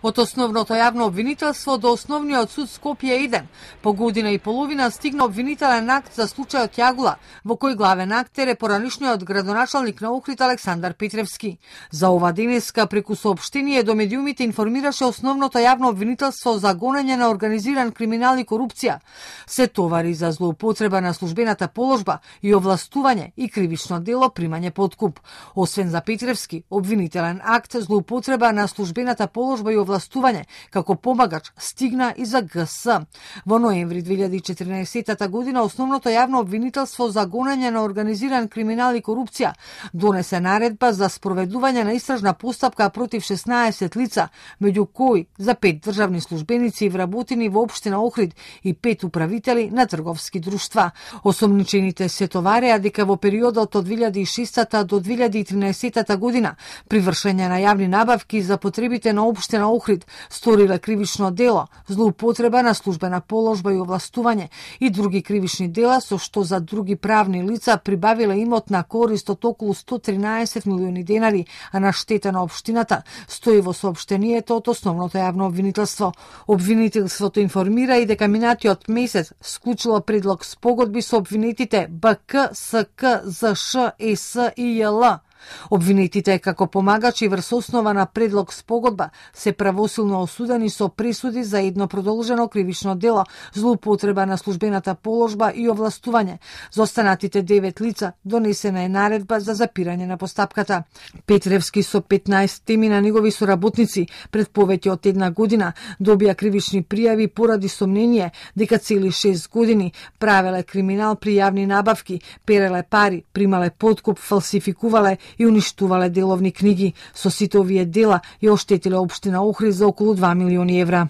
Од основното јавно обвинителство до основниот суд Скопје 1, по година и половина стигна обвинителен акт за случајот Јагула, во кој главен актер е поранишниот градоначалник на Охрид Александар Петревски. За ова денеска преку соопштение до медиумите информираше основното јавно обвинителство за гонење на организиран криминал и корупција. Се товари за злоупотреба на службената положба и овластување и кривично дело примање подкуп. Освен за Петревски, обвинителен акт злоупотреба на службената положба и овластување како помагач стигна и за ГС. Во ноември 2014 година основното јавно обвинителство за гонење на организиран криминал и корупција донесе наредба за спроведување на истражна постапка против 16 лица, меѓу кои за 5 државни службеници и вработени во општина Охрид и 5 управители на трговски друштва. Осомничените се товареа дека во периодот од 2006 до 2013 година при вршење на јавни набавки за потребите на општина Охрид сториле кривично дело, злоупотреба на службена положба и овластување и други кривични дела со што за други правни лица прибавиле имот на корист од околу 113 милиони денари, а на штета на општината, стои во соопштението од основното јавно обвинителство. Обвинителството информира и дека минатиот месец склучило предлог спогодби со обвинетите БК, СК, ЗШ, ЕС и ЈЛ. Обвинетите како помагачи врз основа на предлог спогодба се правосилно осудени со пресуди за едно продолжено кривично дело, злоупотреба на службената положба и овластување. За останатите 9 лица донесена е наредба за запирање на постапката. Петревски со 15 теми на негови соработници пред повеќе од една година добија кривични пријави поради сомнение дека цели 6 години правеле криминал при јавни набавки, переле пари, примале подкуп, фалсификувале и уништувале деловни книги. Со сите овие дела ја оштетиле општина Охрид за околу 2 милиони евра.